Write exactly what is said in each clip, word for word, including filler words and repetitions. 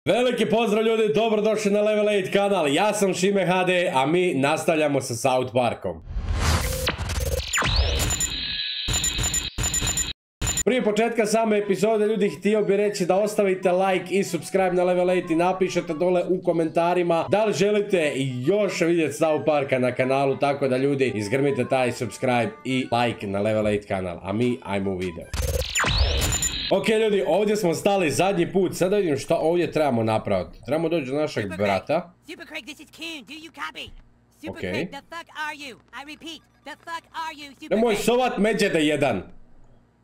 Veliki pozdrav ljudi, dobrodošli na Level osam kanal, ja sam Šime ha de, a mi nastavljamo sa South Parkom. Prije početka same epizode ljudi htio bi reći da ostavite like i subscribe na Level osam i napišete dole u komentarima da li želite još vidjeti South Parka na kanalu, tako da ljudi izgrmite taj subscribe i like na Level osam kanal, a mi ajmo u video. Ok ljudi, ovdje smo stali zadnji put, sada vidim šta ovdje trebamo napraviti. Trebamo doći do našeg brata. Ok. Nemoj sovat međede jedan.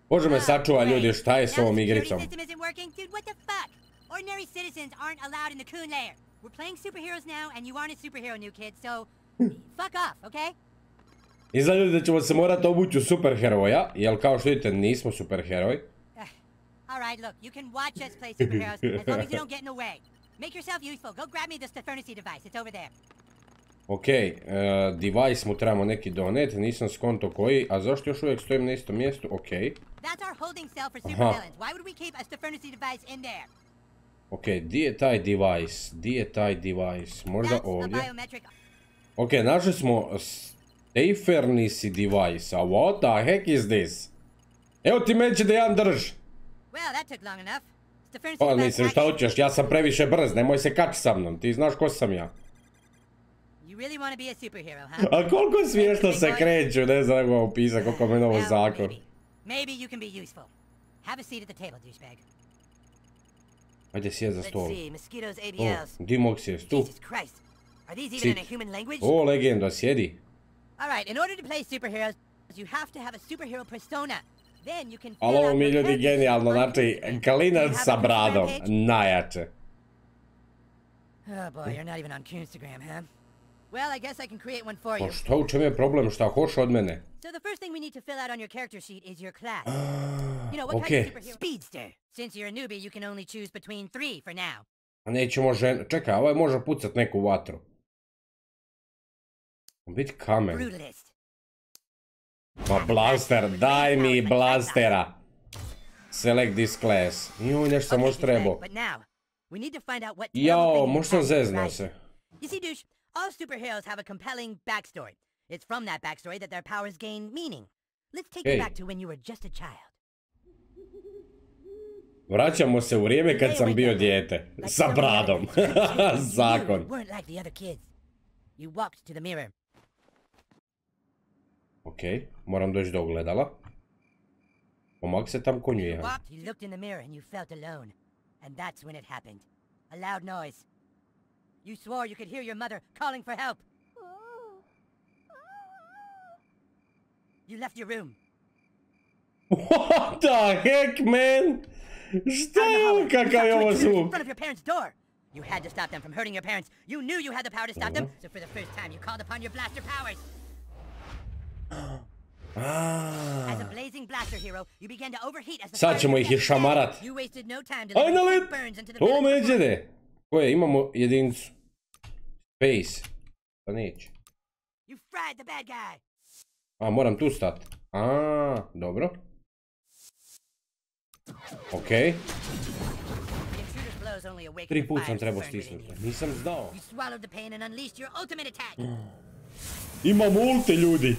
Bože me sačuva ljudi, šta je s ovom igricom? Izgleda ljudi da ćemo se morati obući u superheroja, jer kao što vidite nismo superheroj. Alright, look, you can watch us play superheroes as long as you don't get in the way. Make yourself useful. Go grab me the Stefernacy device. It's over there. Ok, uh, device mu trebamo neki donet, nisam skonto koji, a zašto još uvijek stojim na istom mjestu? Ok. That's our holding cell for supervillains. Why would we keep a Stefernacy device in there? Ok, di je taj device? Di je taj device? Možda ovdje? Ok, našli smo Stefernacy device, a what the heck is this? Evo ti meće da jedan drž. Well, that took long enough. Pa mislim šta hoćeš, ja sam previše brz, nemoj se kači sa mnom, ti znaš ko sam ja. You really want to be a superhero, huh? A koliko smiješno se kreću, ne znam kako opisati, koliko me novo zakon. Maybe you can be useful. Have a seat at the table, douchebag. Ajde sjed za stol. Let's see, mosquitoes A D Ls. Di mogu sjest, tu. Jesus Christ. Are these even in a human language? O, legenda, sjedi. Alright, in order to play superheroes, you have to have a superhero persona. Ali ovo mi ljudi genijalno, znači klinac sa bradom, najjače. Oh boy, you're not even on Instagram, huh? Well, I guess I can create one for you. Pa što, u čem je problem, šta hoš od mene? So the first thing we need to fill out on your character sheet is your class. You know, what okay. kind of superhero? Speedster. Since you're a newbie, you can only choose between three for now. A nećemo žen... Čekaj, ovaj može pucat neku vatru. Biti kamen. Brutalist. Ma blaster, daj mi blastera. Select this class. Joj, nešto sam još trebao. Jao, možda sam zeznao se. You see, douche, all superheroes have a compelling backstory. It's from that backstory that their powers gain meaning. Let's take you back to when you were just a child. Vraćamo se u vrijeme kad sam bio dijete. Sa bradom. Zakon. You walked to the mirror. Ok, moram doći do ogledala. Pomak se tam konju jedan. You looked in the mirror and you felt alone. And that's when it happened. A loud noise. You swore you could hear your mother calling for help. You left your room. What the heck, man? Šta je ovo, kakav je ovo zvuk? In front of your parents' door. You had to stop them from hurting your parents. You knew you had the power to stop them, so for the first time you called upon your blaster powers. As a blazing blaster hero, you began to overheat as the sad ćemo ih išamarat. Aj na let! To međede! Koje, imamo jedinicu. Space. Pa neće. A, moram tu stat. A, dobro. Okej. Tri put sam trebao stisnuti. Nisam znao. Imam ulti ljudi.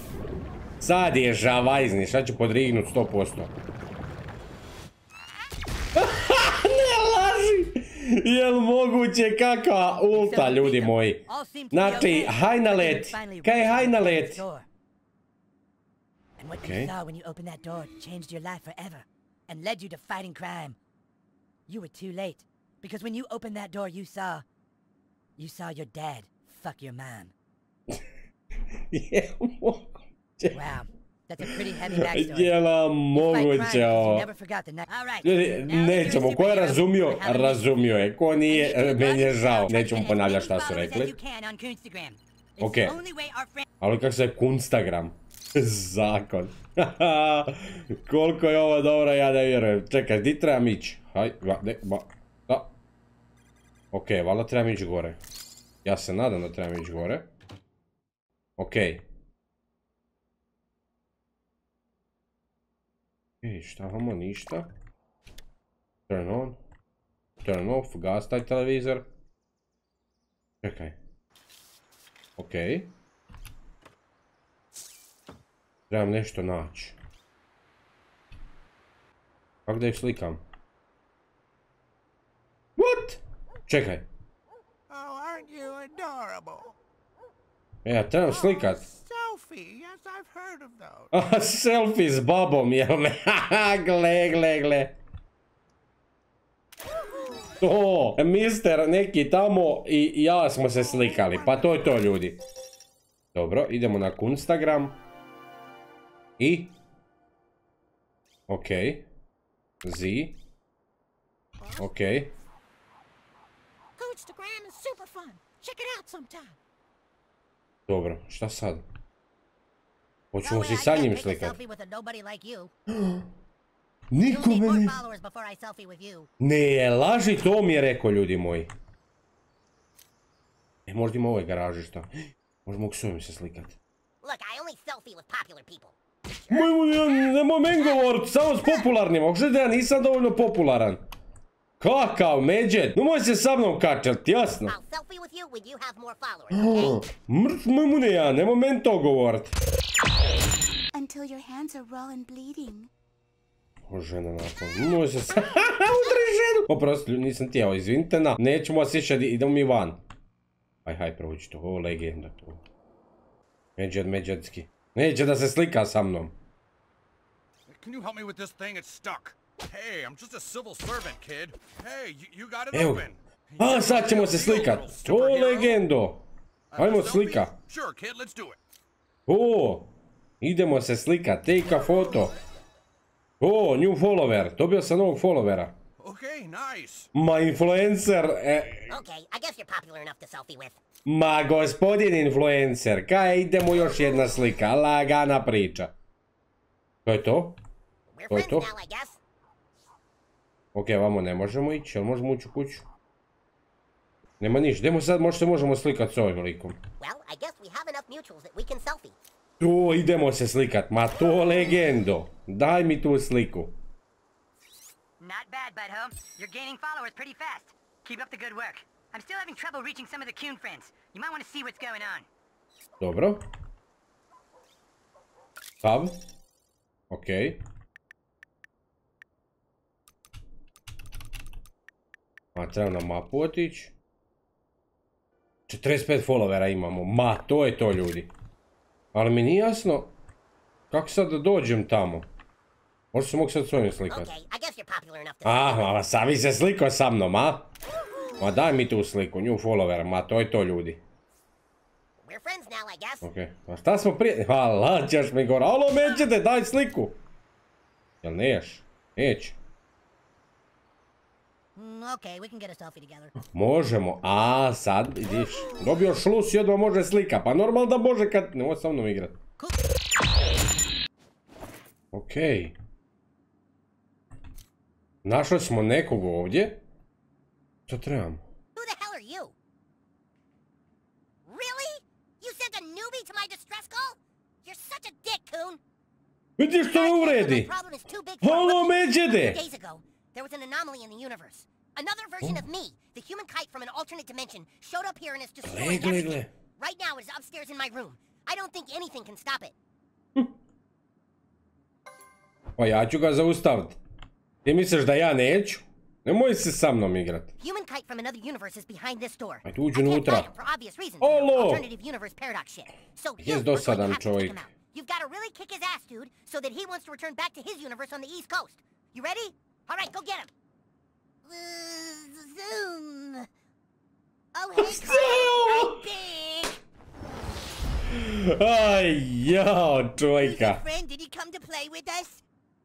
Sad je žavajzni, šta ću podrignut sto posto. Ne laži! Jel moguće kakva ulta, ljudi moji? Znači, haj na let. Kaj je haj na let? Okay. Jel moguće? Wow, that's a pretty heavy backstory. Jel moguće ovo? Ljudi, nećemo, ko je razumio, razumio je. Ko nije, meni je žao. Nećemo ponavljati šta su rekli. Ok, ali kako se je Kunstagram? Zakon. Koliko je ovo dobro, ja ne vjerujem. Čekaj, di trebam ići? Haj, ne, ba, da. Ok, valjda trebam ići gore. Ja se nadam da trebam ići gore. Ok. Ej, šta imamo? Ništa. Turn on. turn off, gas taj televizor. Čekaj. Okej. Trebam nešto naći. Kako da ih slikam? What? Čekaj. Ja trebam slikat. A, selfie s babom, jel me? Gle, gle, gle. To, mister neki tamo i ja smo se slikali. Pa to je to, ljudi. Dobro, idemo na Instagram. I? Okej. Z. Okej. Dobro, šta sad? Hoćemo si sa njim slikati. Niko meni... Ne, laži, to mi je rekao, ljudi moji. E, možda ima u ovoj garaži, šta? Možemo s ovim se slikati. Nemoj men govorit, samo s popularnima. Ako da ja nisam dovoljno popularan. Kakav, Međed? Nemoj se sa mnom kačat, jasno? Mrš mune ja, nemoj men to govorit. O, žena nakon, nemoj se sa... Udri ženu! Oprosti, nisam tijelo, izvinite na. Nećemo vas više, idemo mi van. Aj, haj, proći to, ovo legenda to. Međed, Međedski. Neće da se slika sa mnom. Can you help me with this thing? It's stuck. Hey, I'm just a civil servant, kid. Hey, you, you got it open. A, sad ćemo se slikat. To legendo. Ajmo slika. Sure, kid, let's do it. O, idemo se slikat. Take a photo. O, new follower. Dobio sam novog followera. Okay, nice. Ma, influencer. E... Okay, I guess you're popular enough to selfie with. Ma, gospodin influencer. Kaj, idemo još jedna slika. Lagana priča. To je to? To je to? Ok, vamo ne možemo ići, jel možemo ući u kuću? Nema ništa, idemo sad, možda se možemo slikat s ovim likom. To, idemo se slikat, ma to legendo. Daj mi tu sliku. Not bad, butthole. You're gaining followers pretty fast. Keep up the good work. I'm still having trouble reaching some of the Coon friends. You might want to see what's going on. Dobro. Tab. Okej. A treba na mapu otići. četrdeset pet followera imamo. Ma, to je to, ljudi. Ali mi nije jasno kako sad da dođem tamo. Možda se mogu sad s ovim slikati. Aha, sad vi se slikao sa mnom, a? Ma daj mi tu sliku, new follower, ma to je to, ljudi. Okej, a šta smo prije... Hala, ćeš mi gore, alo, Međede, daj sliku! Jel neš? Neć. Možemo, a sad vidiš. Dobio šlus i odmah može slika, pa normalno da može kad... Nemoj sa mnom igrat. Okej. Našli smo nekog ovdje. Što trebam? Vidiš što me uvredi? Halo, Međede! There was an anomaly in the universe. Another version of me, the human kite from an alternate dimension, showed up here and is destroying everything. Right now it is upstairs in my room. I don't think anything can stop it. Pa ja ću ga zaustaviti. Ti misliš da ja neću? Nemoj se sa mnom igrat. Human kite from another universe is behind this door. Ajde uđi unutra. Olo! Jes dosadan čovjek. You've got to really kick his ass, dude, so that he wants to return back to his universe on the East Coast. You ready? All right, go get him. Zoom. Oh, hey, Carl. Big. Ay, yo, čovjeka. Friend, did he come to play with us?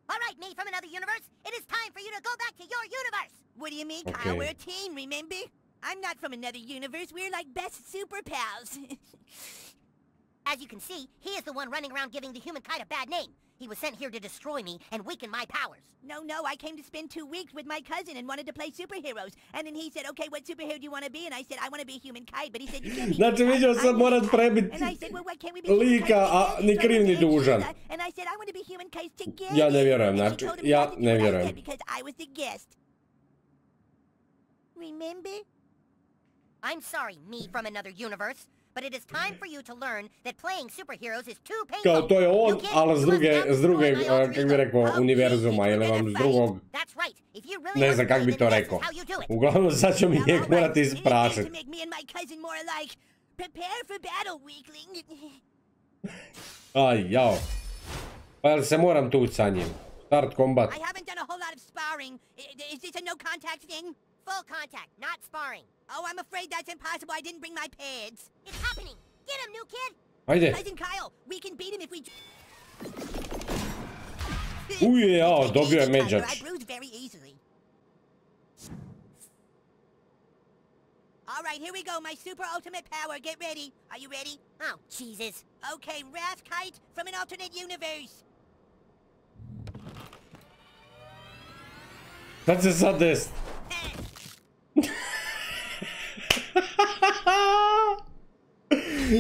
All right, me from another universe. It is time for you to go back to your universe. What do you mean, Kyle? Okay. We're a team, remember? I'm not from another universe. We're like best super pals. As you can see, he is the one running around giving the human kite a bad name. He was sent here to destroy me and weaken my powers. No, no, I came to spend two weeks with my cousin and wanted to play superheroes. And then he said, okay, what superhero do you want to be? And I said, I want to be a human kite. But he said, you can't be Znači, vidio sad morat prebiti lika, a ni kriv ni dužan. And I said, I want to be human kites together. Ja ne vjerujem, znači, ja ne vjerujem. Because I was the guest. Remember? I'm sorry, me from another universe, but it is time for you to learn that playing superheroes is too painful. Kao to je on, ali s druge, s druge, kak bi rekao, univerzuma, ili vam s drugog... Ne znam kak bi to rekao. Uglavnom sad ću mi njeg morati isprašiti. Aj, jao. Pa jel se moram tući sa njim? Start combat. I haven't done a whole lot of sparring. Is this a no contact thing? Full contact, not sparring. Oh, I'm afraid that's impossible. I didn't bring my pads. It's happening. Get him, new kid. Ajde. Cousin Kyle, we can beat him if we... Uje, jao, dobio je međač. I bruise very easily. All right, here we go. My super ultimate power. Get ready. Are you ready? Oh, Jesus. Okay, Wrath Kite from an alternate universe. Sad se sad desi.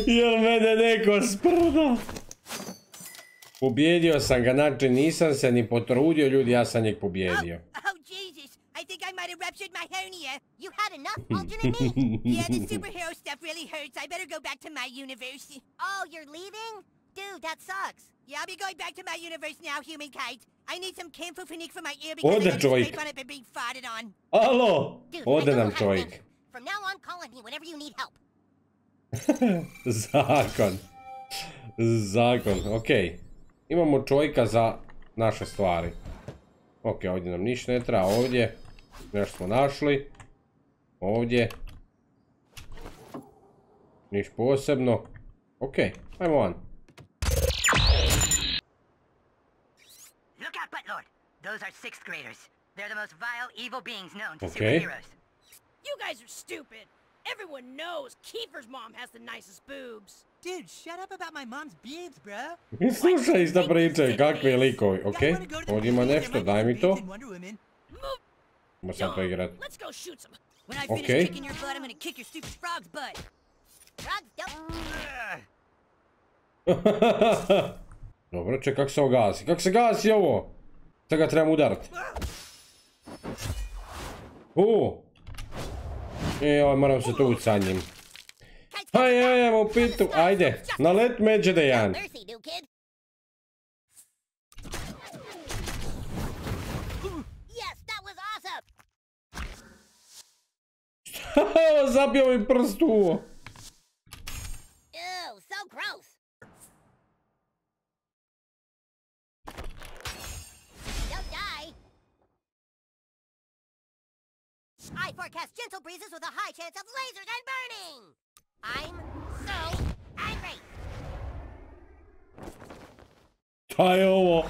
Jel mene neko sprda? Pobjedio sam ga, znači nisam se ni potrudio, ljudi, ja sam njeg pobjedio. Oh, oh Jesus, I think I might have ruptured my hernia. You had enough alternate me? Yeah, the superhero stuff really hurts. I better go back to my universe. Oh, you're leaving? Dude, that sucks. Yeah, I'll be going back to my universe now, Human Kite. I need some Camphophonique for my ear because Ode I got a čovjek. scrape on it by being farted on. Alo, Dude, ode I don't nam know how to čovjek. think. From now on, call on me whenever you need help. Zakon. Zakon, okej. Imamo čovjeka za naše stvari. Ok, ovdje nam ništa ne treba, ovdje. Nešto smo našli. Ovdje. Niš posebno. Ok, ajmo van. Look out, Buttlord. Those are sixth graders. They're the most vile, evil beings known to Okay. superheroes. You guys are stupid. Everyone knows Kiefer's mom has the nicest boobs. Dude, shut up about my mom's boobs, bro. Slušaj ista priča, kakvi likovi, ok? Ovdje ima nešto, daj mi to. Ima sad to igrat. Let's go shoot some. When I finish Okay. kicking your butt, I'm gonna kick your stupid frog's butt. Frogs don't... Dobro, ček, kak se ovo gasi? Kak se gasi ovo? Sad ga trebam udarat. Uuu. E, oj, moram se tući sa njim. Aj, aj, ajmo pitu, ajde. Na let međe da jedan. Mercy, new kid. Yes, that was awesome. Evo, zabio mi prst u ovo. Ew, so gross. Don't die. I forecast gentle breezes with a high chance of lasers and burning. I'm so angry. Šta je ovo?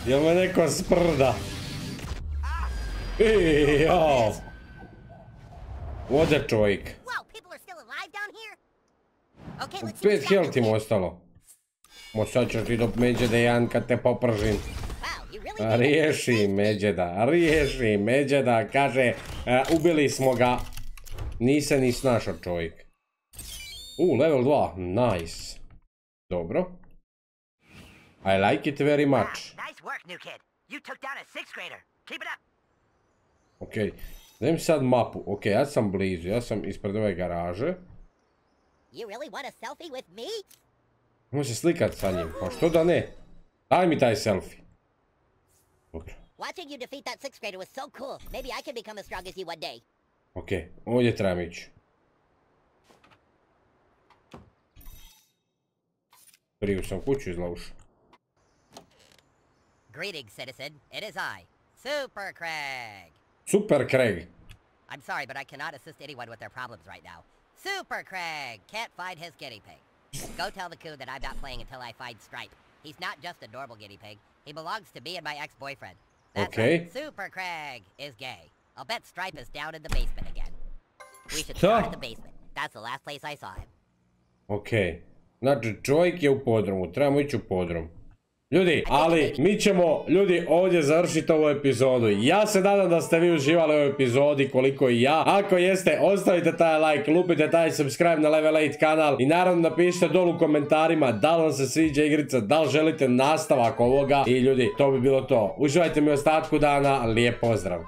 Jel me neko sprda? Ej, jao. Ode čovjek. Whoa, people are still alive down here? Okay, let's see Pet what's got health im new kid. ostalo. Mo sad ćeš ti do Međeda jedan kad te popržim. Wow, you really did it. Riješi Međeda, riješi Međeda, kaže, e, ubili smo ga. Nise ni snašao čovjek. U, level dva, nice. Dobro. I like it very Wow, much. nice work, new kid. You took down a sixth grader. Keep it up. Ok, dajem sad mapu. Ok, ja sam blizu, ja sam ispred ove garaže. You really want a selfie with me? Možemo se slikat sa njim, pa što da ne? Daj mi taj selfie. Dobro. Watching you defeat that sixth grader was so cool. Maybe I can become as strong as you one day. Ok, ovdje trebam ići. Priju sam kuću izlavušao. Greetings, citizen. It is I, Super Craig. Super Craig. I'm sorry, but I cannot assist anyone with their problems right now. Super Craig can't find his guinea pig. Go tell the coon that I'm not playing until I find Stripe. He's not just a normal guinea pig. He belongs to me and my ex-boyfriend. That's Okay. right. Super Craig is gay. I'll bet Stripe is down in the basement again. We should Šta? start at the basement. That's the last place I saw him. Ok. Znači, čovjek je u podrumu, trebamo ići u podrum. Ljudi, ali mi ćemo, ljudi, ovdje završiti ovu epizodu. Ja se nadam da ste vi uživali u ovoj epizodi koliko i ja. Ako jeste, ostavite taj like, lupite taj subscribe na Level osam kanal i naravno napišite dolu u komentarima da li vam se sviđa igrica, da li želite nastavak ovoga. I ljudi, to bi bilo to. Uživajte mi ostatku dana, lijep pozdrav.